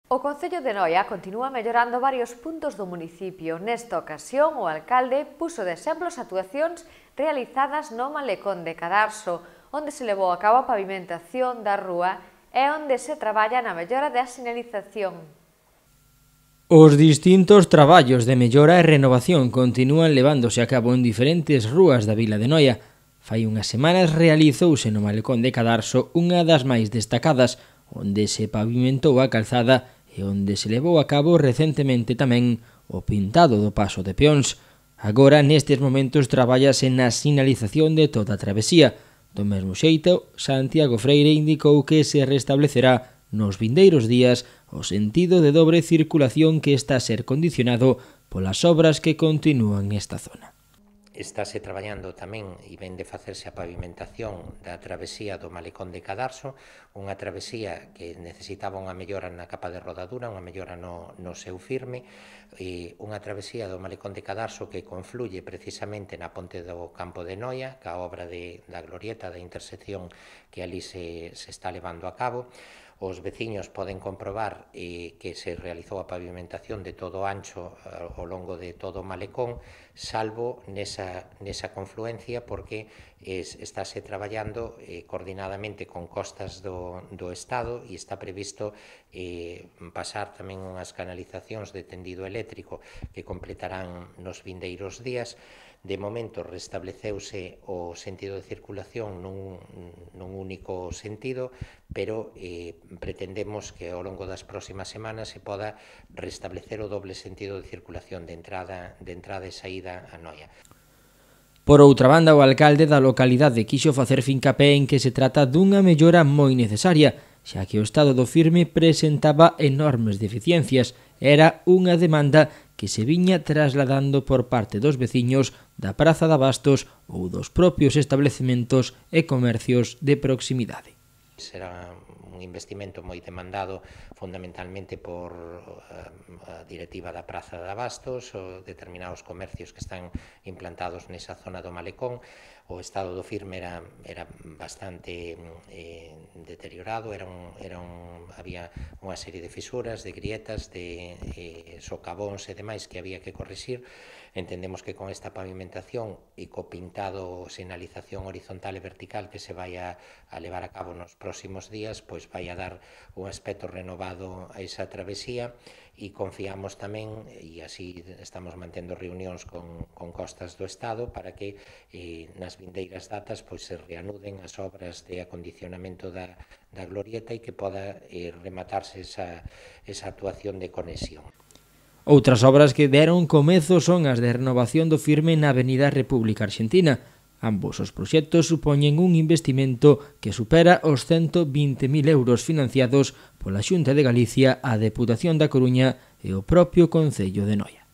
O Concello de Noia continúa mellorando varios puntos do municipio. Nesta ocasión, o alcalde puxo de exemplo as actuacións realizadas no Malecón de Cadarso, onde se levou a cabo a pavimentación da rúa e onde se traballa na mellora da sinalización. Os distintos traballos de mellora e renovación continúan levándose a cabo en diferentes rúas da vila de Noia. Fai unhas semanas realizouse no Malecón de Cadarso unha das máis destacadas, onde se pavimentou a calzada e onde se levou a cabo recentemente tamén o pintado do paso de peóns. Agora, nestes momentos, trabállase na sinalización de toda a travesía. Do mesmo xeito, Santiago Freire indicou que se restablecerá nos vindeiros días o sentido de dobre circulación que está a ser condicionado polas obras que continúan nesta zona. Estáse traballando tamén e ven de facerse a pavimentación da travesía do Malecón de Cadarso, unha travesía que necesitaba unha mellora na capa de rodadura, unha mellora no seu firme, e unha travesía do Malecón de Cadarso que confluye precisamente na ponte do Campo de Noia, ca obra da glorieta da intersección que ali se está levando a cabo. Os veciños poden comprobar que se realizou a pavimentación de todo o ancho ao longo de todo o malecón, salvo nesa confluencia, porque estáse traballando coordinadamente con Costas do Estado e está previsto pasar tamén unhas canalizacións de tendido eléctrico que completarán nos vindeiros días. De momento restableceuse o sentido de circulación nun único sentido, pero pretendemos que ao longo das próximas semanas se poda restablecer o doble sentido de circulación de entrada e saída a Noia. Por outra banda, o alcalde da localidade quixo facer fincapé en que se trata dunha mellora moi necesaria, xa que o estado do firme presentaba enormes deficiencias. Era unha demanda que se viña trasladando por parte dos veciños da Praza de Abastos ou dos propios establecementos e comercios de proximidade. Será un investimento moi demandado fundamentalmente por a directiva da Praza de Abastos, ou determinados comercios que están implantados nesa zona do Malecón. O estado do firme era bastante deteriorado, había unha serie de fisuras, de grietas, de socavóns e demais que había que corrixir. Entendemos que con esta pavimentación e co pintado, sinalización horizontal e vertical que se vai a levar a cabo nos próximos días, pois vai a dar un aspecto renovado a esa travesía, e confiamos tamén, e así estamos mantendo reunións con Costas do Estado para que nas vindeiras datas pois se reanuden as obras de acondicionamento da glorieta e que poda rematarse esa actuación de conexión. Outras obras que deron comezo son as de renovación do firme na Avenida República Argentina. Ambos os proxectos supoñen un investimento que supera os 120.000 euros financiados pola Xunta de Galicia, a Deputación da Coruña e o propio Concello de Noia.